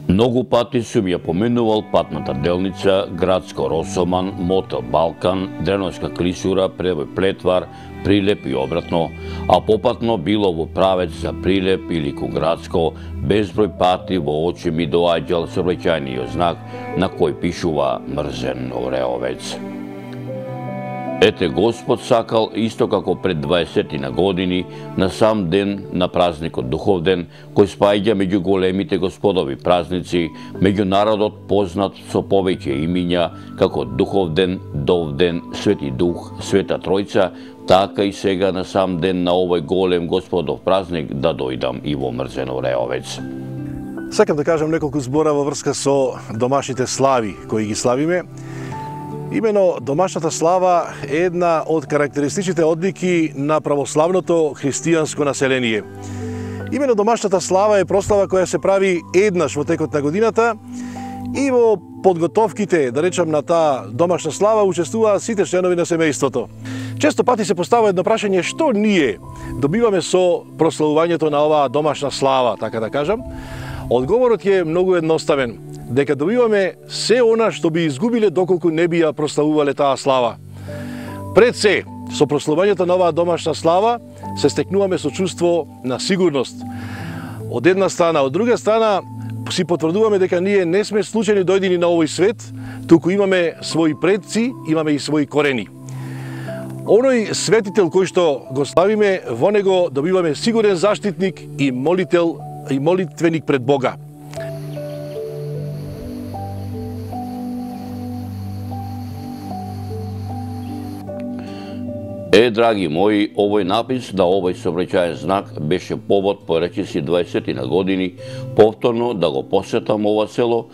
Многу пати сум ја поменувал патната делница Градско Росоман, Мотел Балкан, Дреновска Клисура, Превој Плетвар, Прилеп и обратно, а попатно било во правец за Прилеп или кон Градско, безброј пати во очи ми доаѓал сообраќајниот знак на кој пишува мрзен Ореовец. Ете Господ сакал, исто како пред 20 години, на сам ден на празникот Духовден, кој спаѓа меѓу големите господови празници, меѓу народот познат со повеќе имиња, како Духовден, Довден, Свети Дух, Света Тројца, така и сега на сам ден на овој голем господов празник да дојдам и во мрзен Ореовец. Сакам да кажам неколку збора во врска со домашните слави кои ги славиме. Имено домашната слава е една од карактеристичните одлики на православното христијанско население. Имено домашната слава е прослава која се прави еднаш во текот на годината и во подготовките, да речам, на таа домашна слава учествуваат сите членови на семејството. Често пати се поставува едно прашање што ние добиваме со прославувањето на оваа домашна слава, така да кажам. Одговорот е многу едноставен. Дека добиваме се она што би изгубиле доколку не би ја прославувале таа слава. Пред се, со прославувањето на оваа домашна слава, се стекнуваме со чувство на сигурност. Од една страна, од друга страна, си потврдуваме дека ние не сме случајни дојдени на овој свет, туку имаме своји предци, имаме и своји корени. Оној светител кој што го славиме, во него добиваме сигурен заштитник и молител и молитвеник пред Бога. Драги мои, овој напис на овој сообраќаен знак беше повод по речиси 20 години повторно да го посетам ова село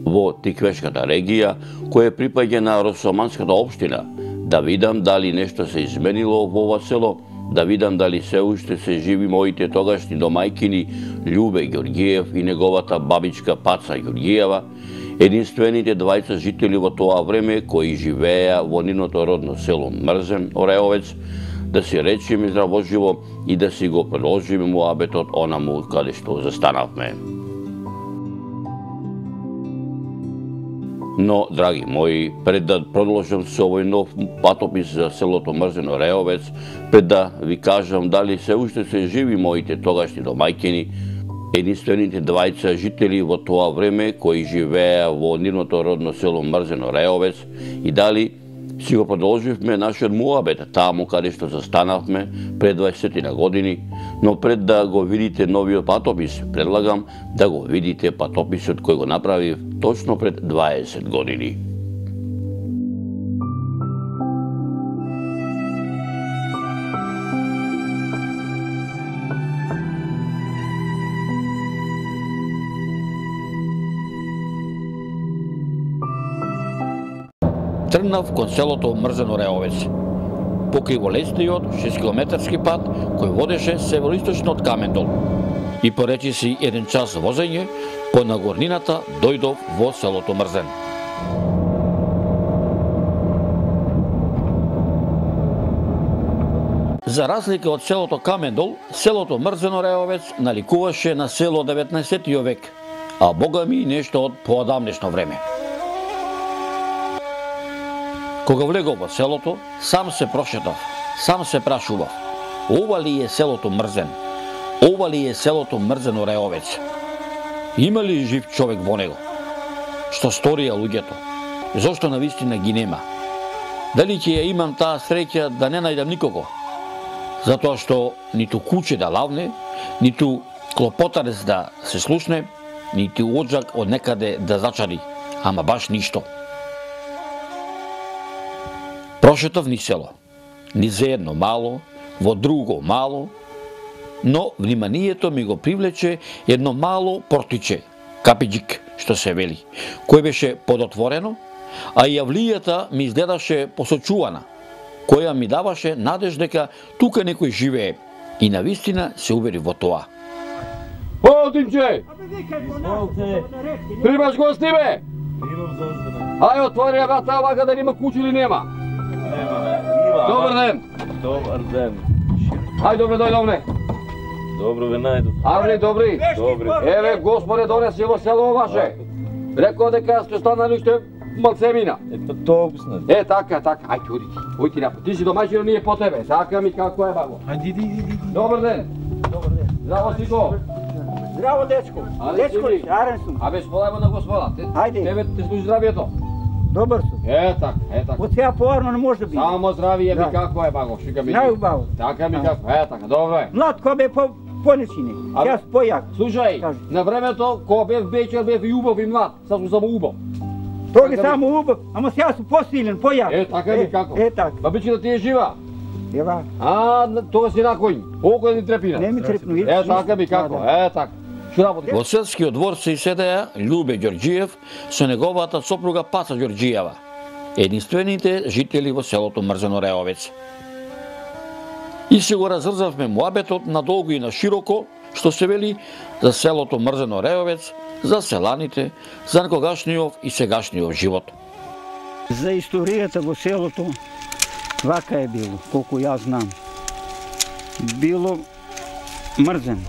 во Тиквешката регија, која припаѓа на Росоманската општина, да видам дали нешто се изменило во ова село, да видам дали се уште се живи моите тогашни домајкини Љубе Ѓорѓиев и неговата бабичка Паца Ѓорѓиева, единствените двајца жители во тоа време кои живееа во нивното родно село Мрзен Ореовец, да си речеме здравоживо и да си го продолжиме муабетот онаму каде што застанавме. Но, драги мои, пред да продолжам со овој нов патопис за селото Мрзен Ореовец, пред да ви кажам дали се уште се живи моите тогашни домајкини, единствените двајца жители во тоа време кои живееа во нивното родно село Мрзен Ореовец и дали си го продолживме нашиот муабет таму каде што застанавме пред 20 години, но пред да го видите новиот патопис, предлагам да го видите патописот кој го направив точно пред 20 години. Тргнав кон селото Мрзен Ореовец. По криволесниот 6-километарски пат кој водеше североисточно од Камендол. И по речиси 1 час возење, по нагорнината дојдов во селото Мрзен. За разлика од селото Камендол, селото Мрзен Ореовец наликуваше на село 19 век, а богами нешто од поодамнешно време. Кога влегов во селото, сам се прошетав, сам се прашував. Ова ли е селото Мрзен? Ова ли е селото Мрзен Ореовец? Има ли жив човек во него? Што сторија луѓето? Зошто навистина ги нема? Дали ќе ја имам таа среќа да не најдам никого? Затоа што ниту куче да лавне, ниту клопотарец да се слушне, ниту оджак од некаде да зачари, ама баш ништо. Прошетав ни село, ни за едно мало, во друго мало, но вниманието ми го привлече едно мало портиче, капиџик, што се вели, кој беше подотворено, а јавлијата ми изгледаше посочувана, која ми даваше надеж дека тука некој живее, и навистина се увери во тоа. Полтинче! Примаш гости, бе? Ај, отвори ја врата, вака да нема куќи или нема? Нема, Добар ден! Добар ден. Ај, добре, дојдовне. Добро ве најдов. Аври, добри. Добри. Еве, Господе, донеси во село ваше. Рекол дека сте останали уште малцемина. Па толкова. Така. Ајде, оди напред. Ти си домаќин, ние по тебе. Сакам и како е баго. Ајде, иди. Добар ден. Добар ден. Здраво, Сико. Здраво, дечко. Дечко ли? Арен сум. Абе, сполајмо на Господа. Ајде. Тебе те служи здравието. Добар сум. Така. Од сега поарно не може да биде. Само здравие ми Да. како е баго, шика ми. Најубаво. Така ми како, така, добро е. Млад кој бе понечини. Абе. Јас појак. Слушај, Кажи. на времето кога бев вечер бев и убав и млад, сад сум само убав. Тој е Така само убав, ама сега сум посилен, појак. Така ми како. Така. Ба биче да ти е жива. Ева, Тога си на коњ. Око да ни трепина. не ми трепну. Така ми како, така. Што работи? Во селскиот двор се иседеа Љубе Ѓорѓиев со неговата сопруга Паца Ѓорѓиева, единствените жители во селото Мрзено Реовец. И се го разрзавме муабетот надолго и на широко, што се вели за селото Мрзено Реовец, за селаните, за некогашниот и сегашниот живот. За историјата во селото, вака е било, колку јас знам. Било мрзен,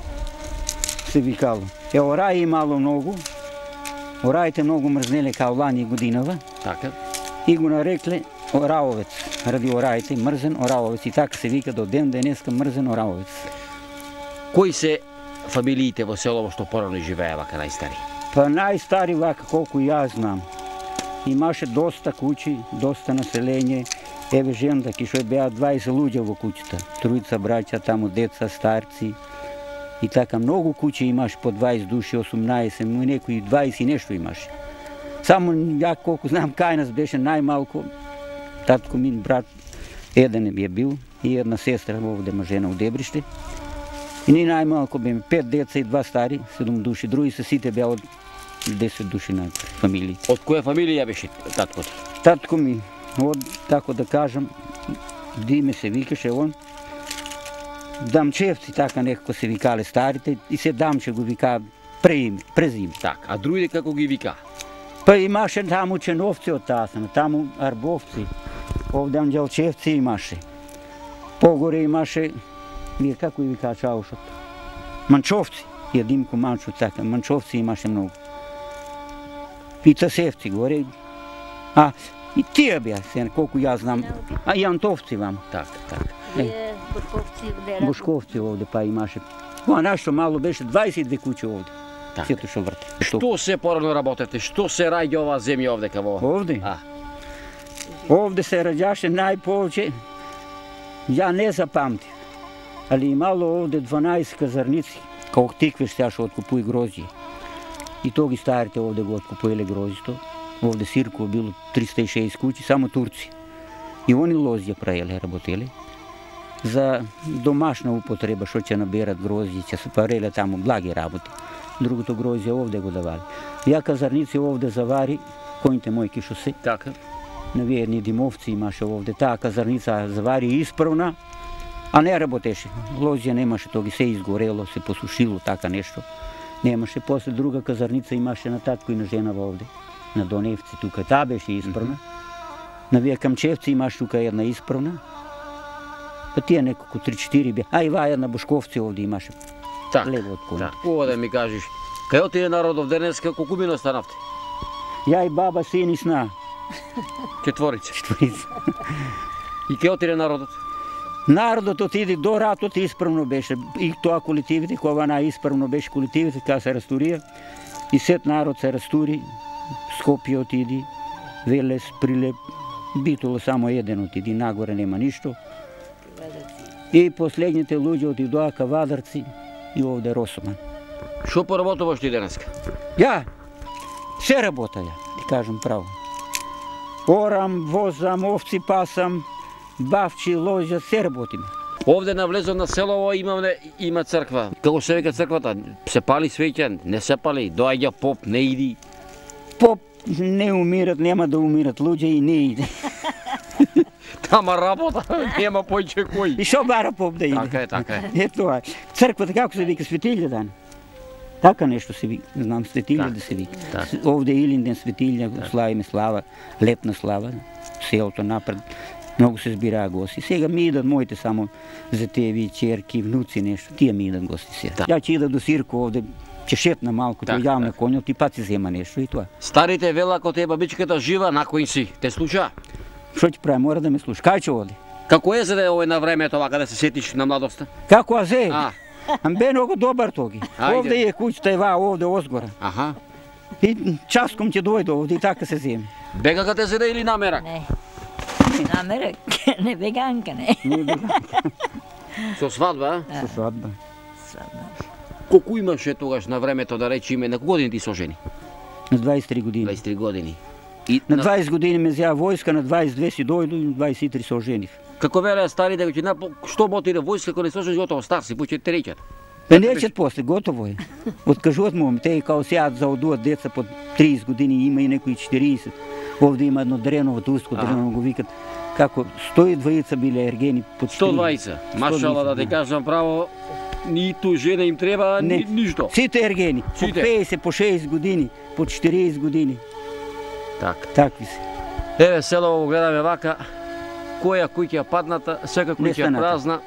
се викало. Орај имало многу, ораите многу мрзнеле као лани годинава. Така. И го нарекле Ораовец, ради ораите, мрзен Ораовец. И така се вика до ден денеска мрзен Ораовец. Кои се фамилиите во село што порано живее вака најстари? Па најстари вака колку јас знам. Имаше доста куќи, доста населење. Еве жендаки што беа 20 луѓе во куќата. Тројца браќа, таму деца, старци. И така многу куќи имаш по 20 души, 18, некои 20 и нешто имаше. Само ја колку знам кај нас беше најмалку. Татко ми брат еден е бил и една сестра овде мажена у Дебриште. И ни најмалку беме 5 деца и 2 стари, 7 души, други се сите беа од 10 души на фамилии. Од која фамилија беше таткото? Татко ми, од, тако да кажам, Диме се викаше он, Дамчевци, така некако се викале старите, и се Дамче го вика презиме. Така, а другите како ги вика? Па имаше таму Ченовци од тасна, таму Арбовци, овде Анđелчевци имаше. Погоре имаше, вие како и вика чаушот? Манчовци, ја Димко Манчо, така, Манчовци имаше многу. И Тасевци горе. И тие беа, колку јас знам. И Антовци вама. Така. Бушковци овде па имаше. Нашто мало беше 22 куќи овде. Така. Сето што врте. Што се порано работете? Што се раѓа оваа земја овде каво? Овде? А. Овде се раѓаше најповеќе, ја не запамтив, али имало овде 12 казарници, као тикве штяше откупуи грозје. И то ги старите овде го откупуеле грозјето. Овде сирко било 360 куќи, само турци. И они лозја праеле, работеле. За домашна употреба, што ќе наберат грозје, ќе се пареле таму благи работи. Другото грозје овде го давали. Ја казарници овде завари, коњите мојки што се. Така. Навиедни димовци имаше овде. Таа казарница завари исправна, а не работеше. Лозја немаше, то ги се изгорело, се посушило, така нешто. Немаше. После друга казарница имаше на татко и на женава овде. На Доневци тука. Таа беше исправна. На Вие Камчевци имаше тука една исправна. Па тие неколку 3-4 беа. И ваа една Бушковци овде имаше. Така. Лево од кола. Ова да ми кажеш, кај отиде народов денеска, колку мина останавте? Ја и баба, син и сна. Четворица. Четворица. И кај отиде народот? Народот отиде до ратот исправно беше. И тоа колективите, кога најисправно беше колективите, кога се растурија. И сет народ се растури. Скопје отиди, Велес, Прилеп, Битола само еден отиди, нагоре нема ништо. И последните луѓе отидоа ка Вадарци и овде Росоман. Што поработуваш ти денеска? Ја, се работа ја, ти кажам право. Орам, возам, овци пасам, бавчи, лоѓа, се работиме. Овде навлезо на селово има црква. Како се вика црквата? Се пали свеќа, не се пали, доаѓа поп, не иди. Поп не умират, нема да умират луѓе и не иде. Тама работа, нема појче кој. И шо бара поп да иде? Така е. Е тоа. Црквата како се вика, Светилја дан? Така нешто се вика, знам, Светилја да се вика. Овде Илинден Светилја, славиме слава, летна слава, селото напред. Многу се збираа гости. Сега ми идат моите само зетеви, черки, внуци, нешто. Тие ми идат гости сега. Да. Ја ќе идат до Сирко овде, ќе шетна малку, ќе јавам на конјот и пат си зема нешто и тоа. Старите вела ако те бабичката жива, на кој си? Те слуша? Што ќе прави? Мора да ме слуша. Кај ќе оди? Како е за да е овој на времето вака да се сетиш на младоста? Како азе? А. Бе многу добар тоги. Ајде. Овде е куќата ева, овде озгора. Аха. И часком ќе дојде овде и така се земе. Бегака те зеде или намерак? Не. Намерак, не веганка, не. Со свадба? Со свадба. Колку имаше тогаш на времето да речеме, на години ти сожени? На 23 години. 23 години. И На 20 години ме зја војска, на 22 си дојду и на 23 се оженив. Како велеа старите, што мотире војска, ако не сожени готово, стар си, пуќе те речат. Бе неќат после, готово е. Откажуват му, те као сега заодуват деца под 30 години, има и некои 40. Овде има едно дреново, туско дреново го викат. Како 120 биле ергени под 120. Машала да ти кажам право, ниту жена им треба, ништо. Сите ергени, по Сите. 50, по 6 години, по 40 години. Так. Такви се. Еве село го гледаме вака, која куќа падната, сека куќа Нестаната. празна,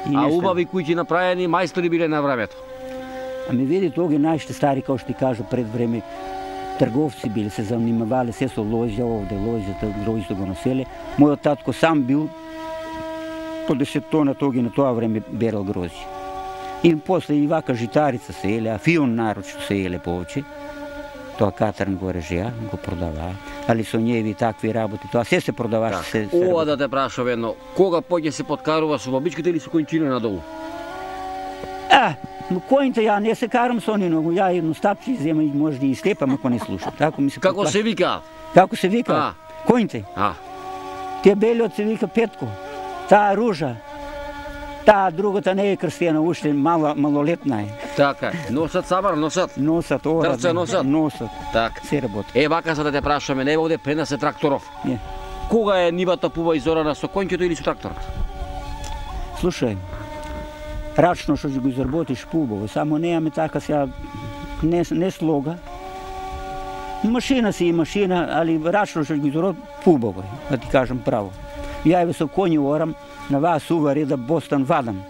И а нешто. убави куќи направени, мајстори биле на времето. Ами види, тоги најште стари, као што ти кажа пред време, трговци били, се занимавале се со лоѓа овде, лоѓата го населе. Мојот татко сам бил по 10 тона тоги на тоа време берал грозје. И после и вака житарица се еле, а фион нарочно се еле повеќе. Тоа катрн го режеа, го продаваа. Али со њеви такви работи, тоа се продаваше. се Ова да те прашам едно, кога поќе се подкарува со бабичките или со конјчина надолу? Којните ја не се карам со они, но ја едно стапче зема и може да и слепам ако не слушам. Тако ми се Како поплаќа. се викаат? Како се вика? Којните? Тие белиот се вика Петко, таа Ружа, таа другата не е крстена, уште малолетна е. Така, носат сабар, носат. Носат ора, Трце носат? носат, Так. се работи. Е, вака за да те прашаме, не овде пренесе тракторов. Не. Кога е нивата пува изорана со конјќето или со тракторот? Слушај, рачно што ќе го изработиш пубаво, само неаме така сега не слога. Машина си и машина, али рачно што ќе го изработиш пубаво е, да ти кажам право. Ја еве со коњи орам, на вас увари да бостан вадам.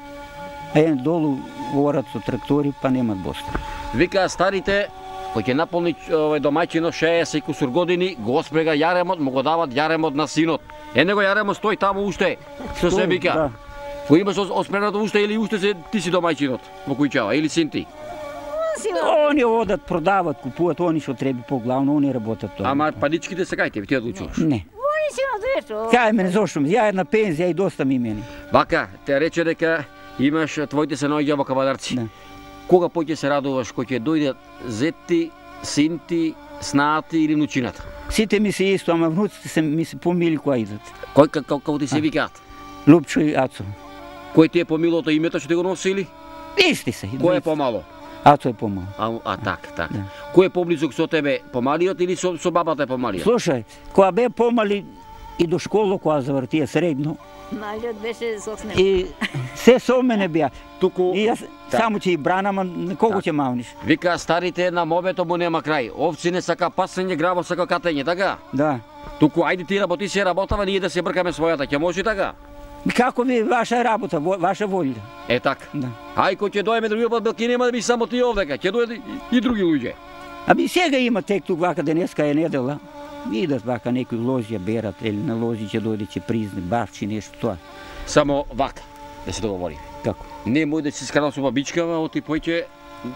А е долу орат со трактори, па немат бостан. Вика старите, кој ќе наполни домаќино 60 и кусур години, го спрега јаремот, му го дават јаремот на синот. Него јаремот стои таму уште, што се вика. Да. Кој имаш оспренато уште или уште се ти си домаќинот во куќава или син ти? Они одат, продават, купуват, они што треба поглавно, они работат тоа. Ама паричките се кај тебе, ти одлучуваш. Не. Они си на двето. Кај мене, зошто ми? Ја една пензија и доста ми мене. Вака, те рече дека имаш твоите се наоѓа во кавадарци. Да. Кога поќе се радуваш кој ќе дојдат зетти, синти, снаати или внучината? Сите ми се исто, ама внуците се ми се помили која идат. Кој како ти се викаат? Лупчо и Ацо. Кој ти е помилото името што ти го носи или? Исти се. Кој е помало? Ацо е помал. Так. Да. Кој е поблизок со тебе, помалиот или со бабата е помалиот? Слушај, кога бе помали и до школа, кога завртија средно, Малиот беше соснем. и се со мене беа. Туку, И јас само ќе и бранам, а на кого ќе мавниш? вика старите на мобето му нема крај. Овци не сака пасење, граво сака катење, така? Да. Туку ајде ти работи се работава, ние да се бркаме својата, ќе може така? И како ви ваша работа, ваша волја? Е така. Да. Ај кој ќе дојме други пат, белки нема да би само ти овдека, ќе дојде и други луѓе. Аби сега има тек тук вака, денеска е недела. Идат вака некои лозија берат, или на лози ќе дојде, ќе призне, бавчи нешто тоа. Само вака, да се договори. Како? Не мој да си се скарал со бабичкава, оти поќе,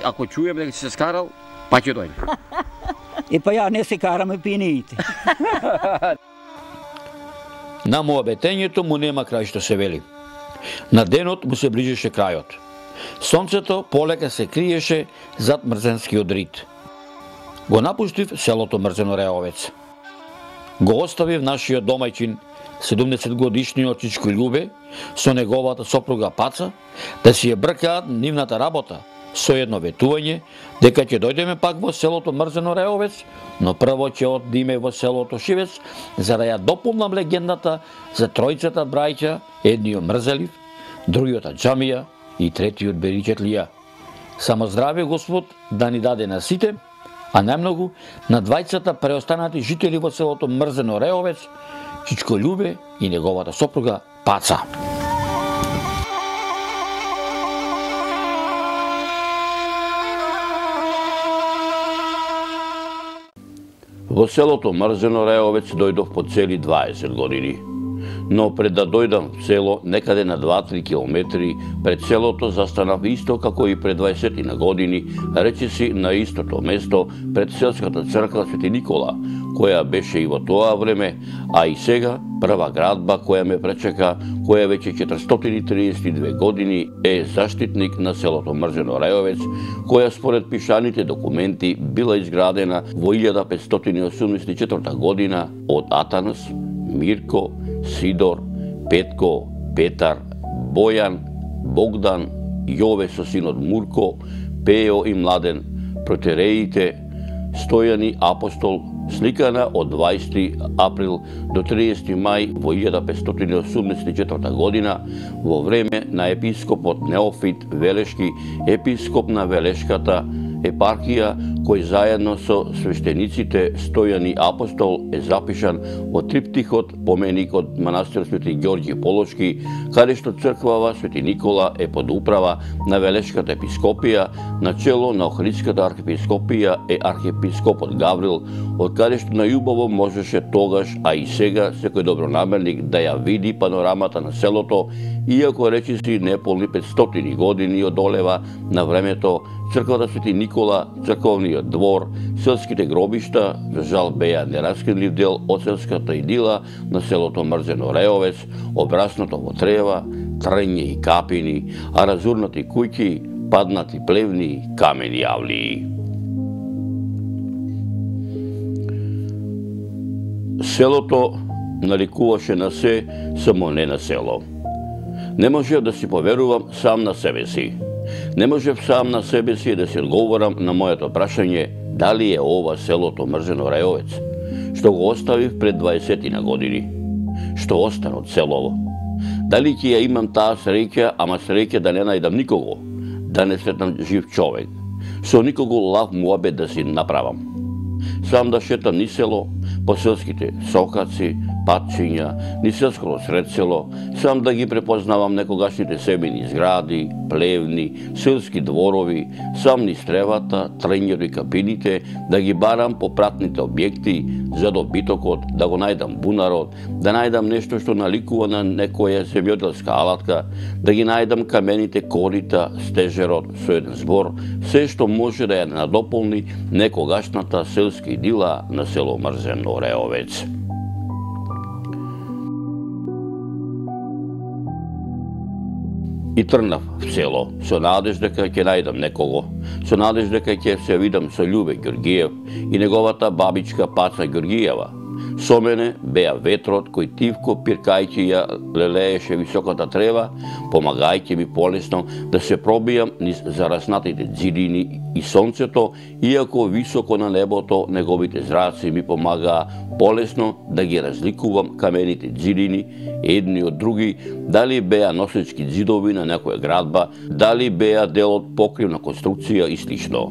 ако чуем дека си се скарал, па ќе дојде. Па ја не се караме пиниите. На моабетењето му нема крај што се вели. На денот му се ближеше крајот. Сонцето полека се криеше зад мрзенскиот рид. Го напуштив селото Мрзено Реовец. Го оставив нашиот домајчин, 70-годишниот Чичко Љубе, со неговата сопруга Паца, да си ја бркаат нивната работа, со едно ветување дека ќе дојдеме пак во селото Мрзено Реовец, но прво ќе одиме во селото Шивец за да ја дополнам легендата за тројцата браќа, едниот мрзелив, другиот аџамија и третиот беричетлија. Само здраве Господ да ни даде на сите, а најмногу на двајцата преостанати жители во селото Мрзено Реовец, Чичко Љубе и неговата сопруга Паца. Во селото Мрзено Реовец дојдов по цели 20 години. Но пред да дојдам в село, некаде на 2-3 километри пред селото застанав исто како и пред 20 на години, речиси на истото место пред селската црква Свети Никола, која беше и во тоа време, а и сега прва градба која ме пречека, која веќе 432 години е заштитник на селото Мрзено Реовец, која според пишаните документи била изградена во 1584 година од Атанас, Мирко, Сидор, Петко, Петар, Бојан, Богдан, Јове со синот Мурко, Пео и Младен, протереите, Стојани апостол, сликана од 20 април до 30 мај во 1584 година во време на епископот Неофит Велешки, епископ на Велешката епархија, кој заедно со свештениците Стојани апостол е запишан во триптихот поменик од манастир Свети Ѓорѓи Полошки, каде што црквава Свети Никола е под управа на Велешката епископија, начело на Охридската архиепископија е архиепископот Гаврил, од каде што најубаво можеше тогаш, а и сега секој добронамерник да ја види панорамата на селото, иако речиси неполни 500 години одолева на времето, црквата Свети Никола, црковниот двор, селските гробишта, за жал беа нераскинлив дел од селската идила на селото Мрзено Реовец, обрасното во трева, трње и капини, а разурнати куќи, паднати плевни, камени јавлии. Селото наликуваше на се, само не на село. Не можев да си поверувам сам на себе си. Не можев сам на себе си да си одговорам на моето прашање дали е ова селото Мрзено Реовец, што го оставив пред 20 на години. Што остана од селово? Дали ќе ја имам таа среќа, ама среќа да не најдам никого, да не сретнам жив човек, со никого лав муабет да си направам. Сам да шетам ни село, по селските сокаци, патчиња, ни селското сред село, сам да ги препознавам некогашните себени згради, плевни, селски дворови, сам ни стревата, трњето и капините, да ги барам по пратните објекти, за добитокот, да го најдам бунарот, да најдам нешто што наликува на некоја земјоделска алатка, да ги најдам камените корита, стежерот со еден збор, се што може да ја надополни некогашната селска идила на село Мрзено Реовец. И тргнав в село, со надеж дека ќе најдам некого, со надеж дека ќе се видам со Љубе Ѓорѓиев и неговата бабичка Паца Ѓорѓиева. Со мене беа ветрот кој тивко пиркајќи ја лелееше високата трева, помагајќи ми полесно да се пробијам низ зараснатите ѕидини и сонцето, иако високо на небото неговите зраци ми помагаа полесно да ги разликувам камените ѕидини едни од други, дали беа носечки ѕидови на некоја градба, дали беа дел од покривна конструкција и слично.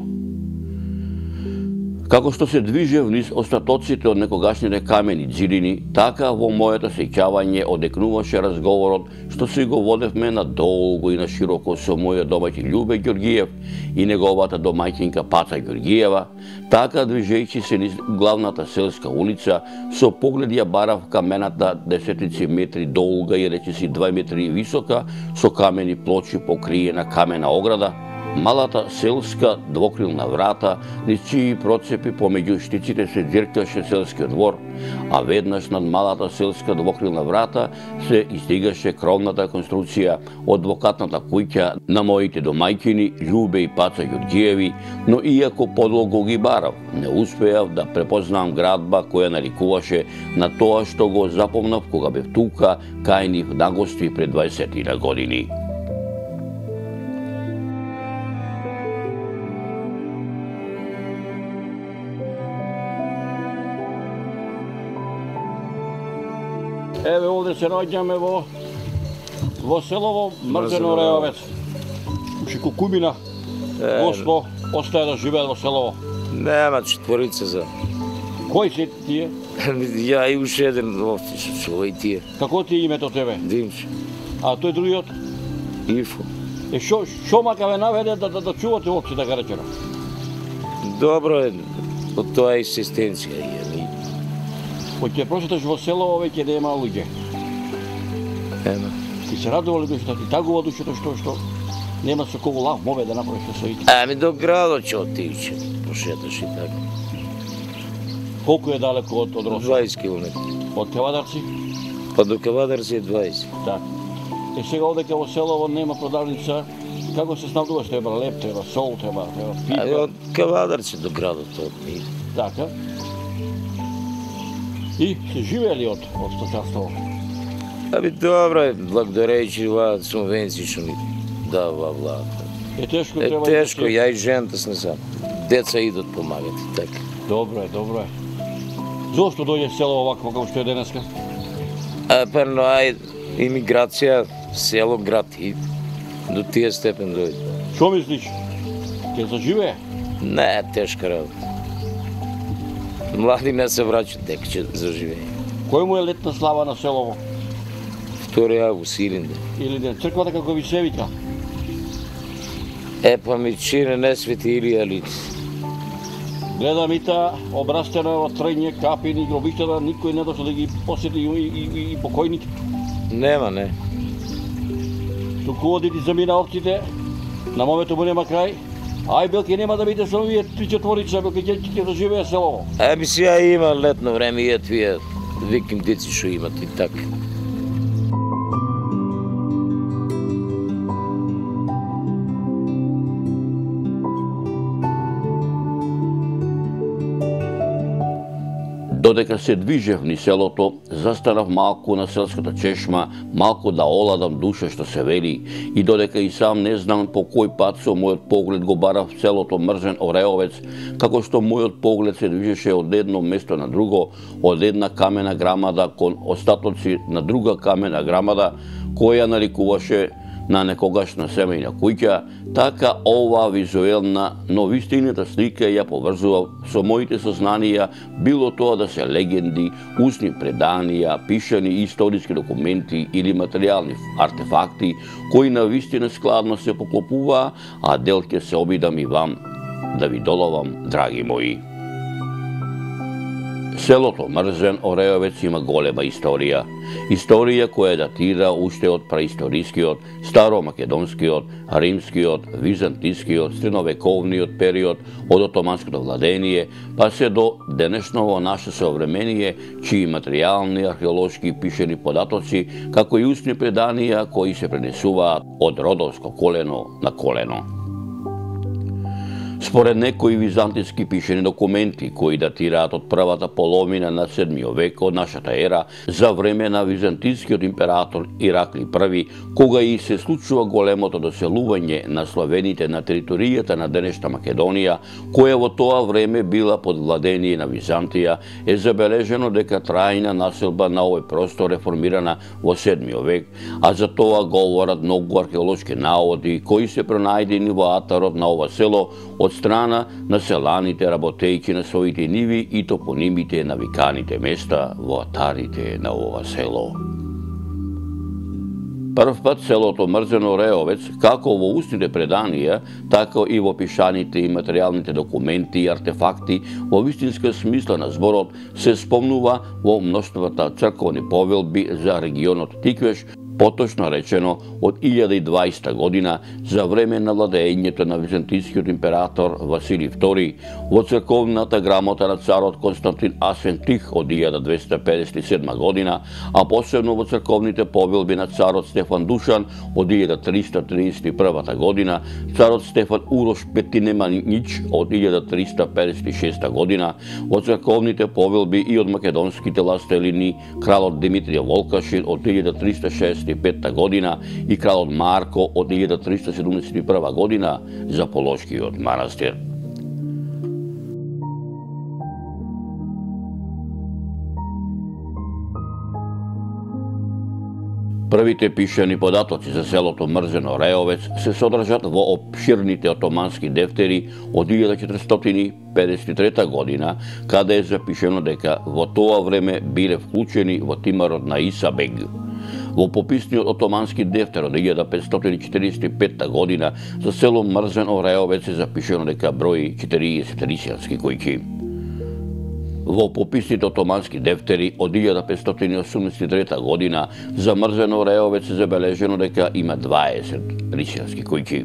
Како што се движев низ остатоците од некогашните камени џидини, така во моето сеќавање одекнуваше разговорот што си го водевме надолго и на широко со мојот домаќин Љубе Ѓорѓиев и неговата домаќинка Паца Ѓорѓиева, така движејќи се низ главната селска улица, со поглед ја барав камената десетици метри долга и речиси 2 метри висока, со камени плочи покриена камена ограда, малата селска двокрилна врата, низ чии процепи помеѓу штиците се џиркаше селскиот двор, а веднаш над малата селска двокрилна врата се издигаше кровната конструкција од двокатната куќа на моите домајќини Љубе и Паца Ѓорѓиеви, но иако подлого ги барав, не успеав да препознам градба која наликуваше на тоа што го запомнав кога бев тука кај нив на гости пред 20 години. Еве овде се наоѓаме во селово Мрзено Реовец. Уши Кукубина, Госпо, остае да живеат во селово. Нема, четворица за. Кои се тие? Ја и уште еден овце што и тие. Како ти е името тебе? Димче. А тој другиот? Ифо. Шо мака ве наведе да чувате овце да га речено? Добро е, од тоа екзистенција е. Кој ќе прочиташ во село, веќе нема луѓе. Нема. Ти се радува ли душата, ти тагува душата што нема со кого лав мове да направиш со ите? Ами до градот ќе отидеш, пошеташ и така. Колку е далеко од Росо? 20 км. Од Кавадарци? Па до Кавадарци е 20. Да. Сега одека во селово нема продавница, како се снабдуваш? Треба леп, треба сол, треба Ами пиво. од Кавадарци до градот од. Така. И се живеели од сточарство? Ами добро е, благодарејќи оваа субвенција што ни дава влада. Е тешко Е треба тешко, да се- ја и жената сме сам. Деца идат помагат и така. Добро е, добро е. Зошто дојде село овакво како што е денеска? Па но ај имиграција, село, град и до тие степен дојде. Што мислиш? Ќе заживее? Не, тешка работа. Млади не се враќат дека ќе заживее. Кој му е летна слава на селово? 2 август, Илинден. Или не? Црквата како ви се вика? Па ми чине не свети Илија лице. Гледам и та обрастено е во трајње, капини, гробиштата, никој не дошол да ги посети и покојните. Нема, не. Туку одите замина овците, на момето му нема крај. Ај белке нема да биде со овие 3-4, белке ќе заживее селово. Ами сега има летно време и тие викиндици што имат и така. Додека се движев низ селото, застанав малку на селската чешма, малку да оладам душа што се вели, и додека и сам не знам по кој пат со мојот поглед го барав селото Мрзен Ореовец, како што мојот поглед се движеше од едно место на друго, од една камена грамада кон остатоци на друга камена грамада, која нарекуваше на некогашна семејна куќа, така ова визуелна, но вистината слика ја поврзував со моите сознанија, било тоа да се легенди, устни преданија, пишани историски документи или материјални артефакти, кои на вистина складно се поклопуваа, а дел ќе се обидам и вам да ви доловам, драги мои. Селото Мрзен Ореовец има голема историја. Историја која датира уште од праисторискиот, старомакедонскиот, римскиот, византискиот, средновековниот период, од отоманското владение, па се до денешново наше современие, чии материјални, археолошки и пишени податоци, како и устни преданија кои се пренесуваат од родовско колено на колено. Според некои византиски пишени документи, кои датираат од првата половина на 7 век од нашата ера, за време на византискиот император Иракли I, кога и се случува големото доселување на славените на територијата на денешна Македонија, која во тоа време била под владение на Византија, е забележено дека трајна населба на овој простор е формирана во 7 век, а за тоа говорат многу археолошки наоди кои се пронајдени во атарот на ова село од страна на селаните работејќи на своите ниви и топонимите на виканите места во атарите на ова село. Прв пат селото Мрзен Ореовец, како во устните преданија, така и во пишаните и материјалните документи и артефакти, во вистинска смисла на зборот, се спомнува во мноштвата црковни повелби за регионот Тиквеш, поточно речено од 1020 година за време на владеењето на византискиот император Василий II, во црковната грамота на царот Константин Асвентих од 1257 година, а посебно во црковните повелби на царот Стефан Душан од 1331 година, царот Стефан Урош Петинеманич од 1356 година, во црковните повелби и од македонските властелини кралот Димитрија Волкашин од 1365 година и кралот Марко од 1371 година за Полошкиот манастир. Првите пишани податоци за селото Мрзен Ореовец се содржат во опширните отомански дефтери од 1400 1853 година, каде е запишено дека во тоа време биле вклучени во тимарот на Исабег. Во пописниот отомански дефтер од 1545 година за село Мрзен Ореовец е запишено дека брои 40 рисијански којки. Во пописните отомански дефтери од 1583 година за Мрзен Ореовец е забележено дека има 20 рисијански којки.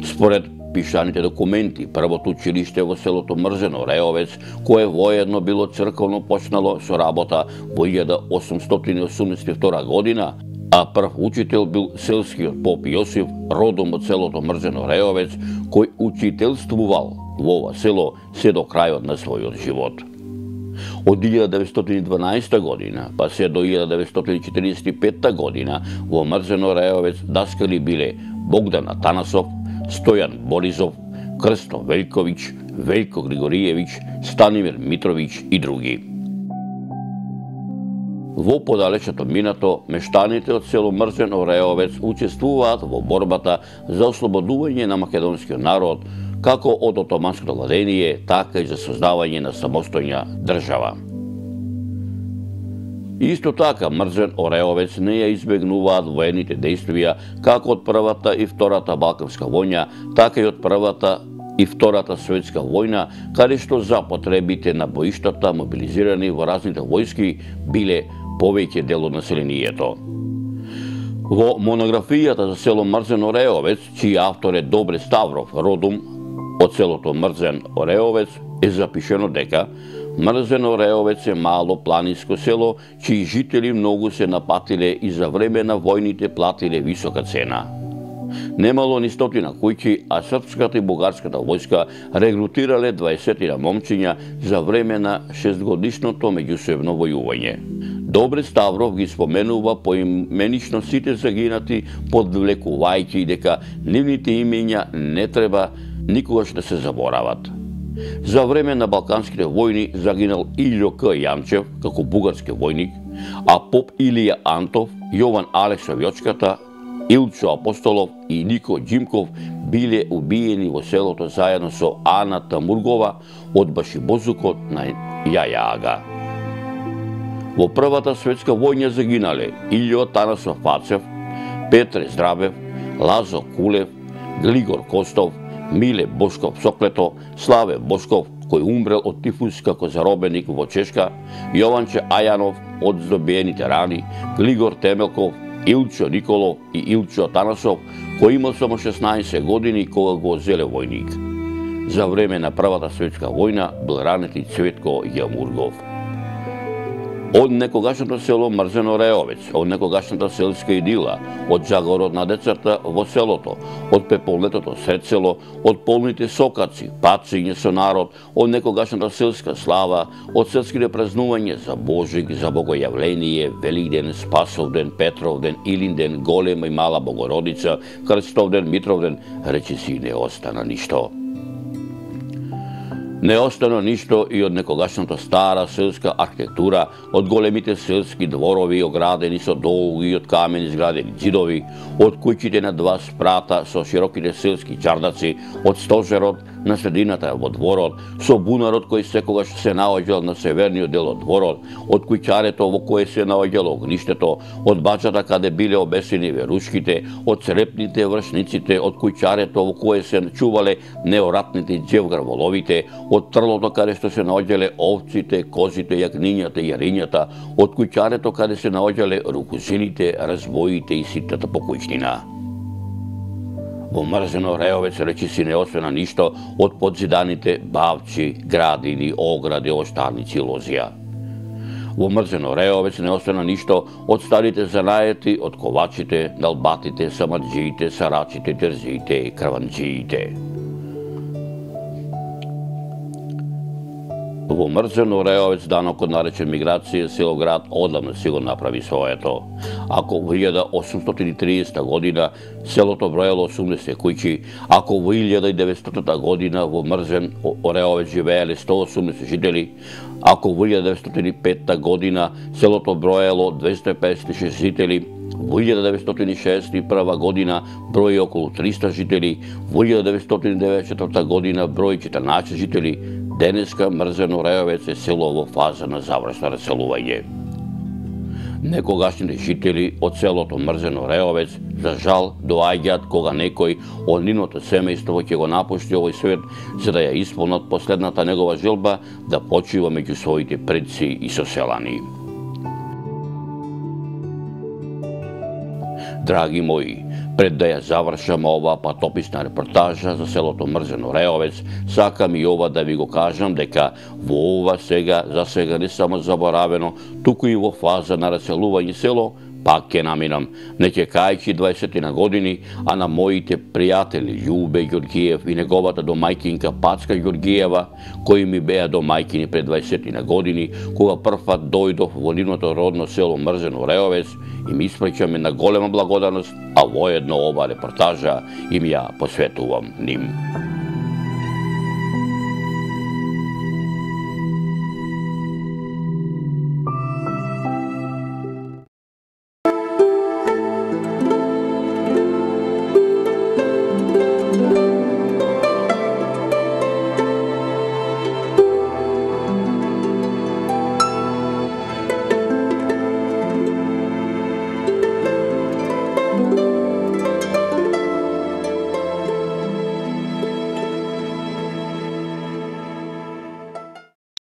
Според пишаните документи, првото училиште во селото Мрзен Ореовец, кое воедно било црковно, почнало со работа во 1882 година, а прв учител бил селскиот поп Јосиф, родом од селото Мрзен Ореовец, кој учителствувал во ова село се до крајот на својот живот. Од 1912 година па се до 1945 година во Мрзен Ореовец даскали биле Богдан Атанасов, Стојан Боризов, Крсто Велјковиќ, Велјко Григориевиќ, Станимир Митровиќ и други. Во подалечното минато, мештаните од село Мрзен Ореовец учествуваат во борбата за ослободување на македонскиот народ, како од отоманското владение, така и за создавање на самостојна држава. Исто така, Мрзен Ореовец не ја избегнуваат воените дејствија како од Првата и Втората Балканска војна, така и од Првата и Втората светска војна, каде што за потребите на боиштата мобилизирани во разните војски биле повеќе дел од населението. Во монографијата за село Мрзен Ореовец, чиј автор е Добре Ставров, родом од селото Мрзен Ореовец, е запишено дека Мрзен Ореовец е мало планинско село, чии жители многу се напатиле и за време на војните платиле висока цена. Немало ни стотина куќи, а српската и бугарската војска регрутирале 20 момчиња за време на 6-годишното меѓусебно војување. Добре Ставров ги споменува поименично сите загинати, подвлекувајќи дека нивните имења не треба никогаш да се заборават. За време на Балканските војни загинал Илјо К. Јанчев како бугарски војник, а поп Илија Антов, Јован Алексов Јочката, Илчо Апостолов и Нико Џимков биле убиени во селото заедно со Ана Тамургова од башибозукот на Јаја Ага. Во Првата светска војна загинале Илјо Танасов Пацев, Петре Здравев, Лазо Кулев, Глигор Костов, Миле Бошков Соклето, Славе Бошков, кој умрел од тифус како заробеник во Чешка, Јованче Ајанов од здобиените рани, Глигор Темелков, Илчо Николов и Илчо Танасов, кој имал само 16 години кога го зеле војник. За време на Првата светска војна бил ранет и Цветко Јамургов. Од некогашното село Мрзен Ореовец, од некогашната селска идила, од жагорот на децата во селото, од пеполнетото сред село, од полните сокаци, пациње со народ, од некогашната селска слава, од селските празнување за Божик, за Богојавление, Великден, Спасовден, Петровден, Илинден, Голема и Мала Богородица, Крстовден, Митровден, речиси не остана ништо. Не остана ништо и од некогашната стара селска архитектура, од големите селски дворови оградени со долги и од камени изградени ѕидови, од куќите на два спрата со широките селски чардаци, од стожерот на средината во дворот, со бунарот кој секогаш се наоѓал на северниот дел од дворот, од куќарето во кое се наоѓало огништето, од баџата каде биле обесени верушките, од црепните вршниците, од куќарето во кое се чувале неоратните џевгарволовите, од трлото каде што се наоѓале овците, козите, јагнињата и јарињата, од куќарето каде се наоѓале рукузините, разбоите и ситната покујшнина. Во Мрзен Ореовец речиси не остана ништо од подзиданите бавчи, градини, огради, оштарници и лозија. Во Мрзен Ореовец не остана ништо од старите занаети, од ковачите, налбатите, самаджиите, сарачите, терзиите и крванджиите. Во Мрзен Ореовец данокот наречен миграција село град одамна си го направи своето. Ако во 1830 година селото броело 80 куќи, ако во 1900 година во Мрзен Ореовец живееле 180 жители, ако во 1905 година селото броело 256 жители, во 1961 година брои околу 300 жители, во 1994 година брои 14 жители, денеска Мрзено Реовец е село во фаза на завршно раселување. Некогашните жители од селото Мрзено Реовец за жал доаѓаат кога некој од нивното семејство ќе го напушти овој свет за да ја исполнат последната негова желба да почива меѓу своите предци и соселани. Драги мои, пред да ја завршам оваа патописна репортажа за селото Мрзено Реовец, сакам и ова да ви го кажам дека во ова за сега не само заборавено, туку и во фаза на раселување село, пак ќе наминам, не ќе кајќи 20 на години, а на моите пријатели Љубе Ѓоргиев и неговата домајкинка Пацка Ѓоргиева, кои ми беа домајкини пред 20 на години, кога првпат дојдов во нивното родно село Мрзено Реовец и ми испраќаме на голема благодарност, а воедно ова репортажа им ја посветувам ним.